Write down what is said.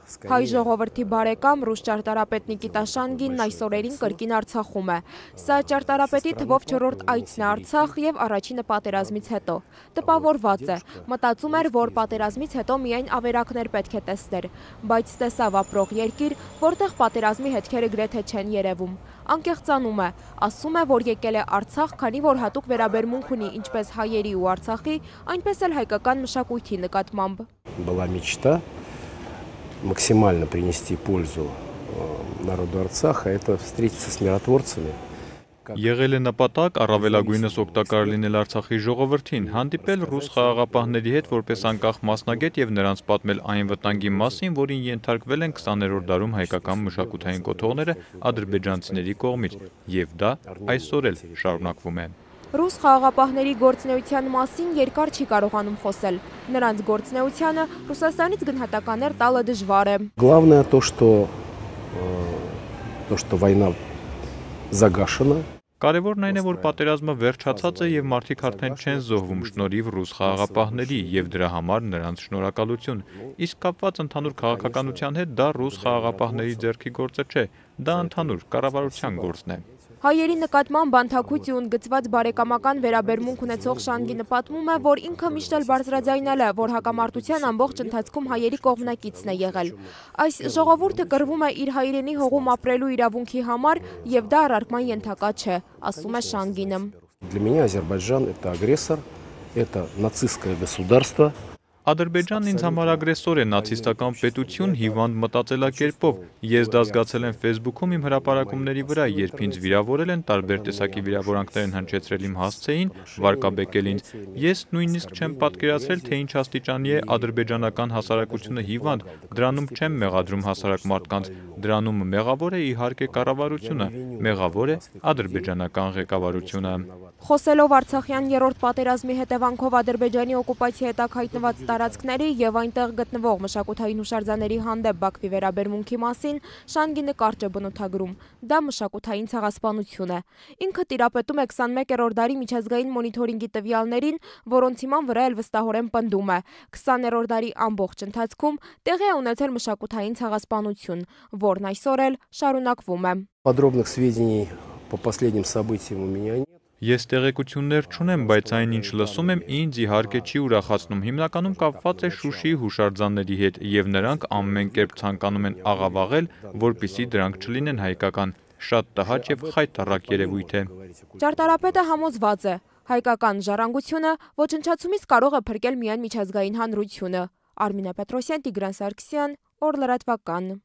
Հայ ժողովրդի բարեկամ ռուս ճարտարապետ Նիկիտա Շանգինն այս օրերին կրկին Արցախում է։ Սա ճարտարապետի թվով 4-րդ այցն է Արցախ եւ առաջինը պատերազմից հետո։ Տպավորված է, մտածում էր, որ պատերազմից հետո միայն ավերակներ պետք է տեսներ, բայց տեսավ ապրող երկիր, որտեղ պատերազմի հետքերը գրեթե չեն երևում։ Անկեղծանում է, ասում է, որ եկել է Արցախ, քանի որ հատուկ վերաբերմունք ունի ինչպես հայերի ու Արցախի, այնպես էլ հայկական մշակույթի նկատմամբ։ Была мечта максимально принести пользу народу Арцаха, это встретиться с миротворцами. Եղել է նպատակ առավելագույնս օգտակար լինել Արցախի ժողովրդին, հանդիպել ռուս խաղաղապահների հետ որպես անկախ մասնագետ եւ նրանց պատմել այն վտանգի մասին, որին ենթարկվել են 20-րդ դարում հայկական մշակութային կոթողները ադրբեջանցիների կողմից, եւ դա այսօր էլ շարունակվում է։ Ռուս խաղաղապահների գործնեության մասին երկար չի կարողանում խոսել։ Նրանց գործնեությանը Ռուսաստանից գնահատականներ տալը դժվար է։ Главное то, что война загашена. Կարևորն այն է, որ պատերազմը վերջացած է եւ մարդիկ արդեն չեն զոհվում շնորհիվ ռուս խաղաղապահների եւ դրա համար նրանց շնորհակալություն։ Իսկ կապված ընդհանուր քաղաքականության հետ դա ռուս խաղաղապահների ձեռքի գործը չէ, դա ընդհանուր կառավարության գործն է։ Հայերի նկատմամբ բանթաքույց ու ընդգծված բարեկամական վերաբերմունք ունեցող Շանգինը պատմում է, որ ինքը միշտ էլ բարձրաձայնել է, որ հակամարտության ամբողջ ընթացքում հայերի կողմնակիցն է եղել։ Այս ժողովուրդը կռվում է իր հայրենի հողում ապրելու իրավունքի համար եւ դա առարկման ենթակա չէ, ասում է Շանգինը։ Для меня Азербайджан это агрессор, это нацистское государство. Ադրբեջանն ինձ համար ագրեսոր է, նացիստական պետություն հիվանդ մտածելակերպով։ Ես դա զգացել եմ Facebook-ում իմ հրապարակումների վրա, երբ ինձ վիրավորել են, տարբեր տեսակի վիրավորանքներ են հնչեցրել իմ հասցեին, վարկաբեկել ինձ։ Ես նույնիսկ չեմ պատկերացրել, թե ինչ աստիճանի է ադրբեջանական հասարակությունը հիվանդ, դրանում չեմ մեղադրում հասարակ մարդկանց, դրանում մեղավոր է իհարկե կառավարությունը, մեղավոր է ադրբեջանական ղեկավարությունը։ Խոսելով Արցախյան երրորդ պատերազմի հետևանքով Ադրբեջանի օկուպացիայի հետագ հայտնված տարածքների եւ այնտեղ գտնվող մշակութային հուշարձանների հանդեպ Բաքվի վերաբերմունքի մասին Շանգինը կարճ է բնութագրում։ Դա մշակութային ցեղասպանություն է։ Ինքը տիրապետում է 21-րդ դարի միջազգային մոնիթորինգի տվյալներին, որոնց հիման վրա էլ վստահորեն պնդում է։ 20-րդ դարի ամբողջ ընթացքում տեղի է ունեցել մշակութային ցեղասպանություն, որն այսօր էլ շարունակվում է։ Подробных сведений по последним событиям у меня нет. Ես տեղեկություններ չունեմ, բայց այն ինչ լսում եմ ինձ իհարկե չի ուրախացնում, հիմնականում կապված է Շուշիի հուշարձանների հետ եւ նրանք ամեն կերպ ցանկանում են աղավաղել, որպիսի դրանք չլինեն հայկական, շատ տհաճ եւ խայտառակ երևույթ է։ Ճարտարապետը համոզված է, հայկական ժառանգությունը ոչնչացումից կարող է փրկել միայն միջազգային հանրությունը։ Արմինե Պետրոսյան, Տիգրան Սարգսյան, Օր լրատվական։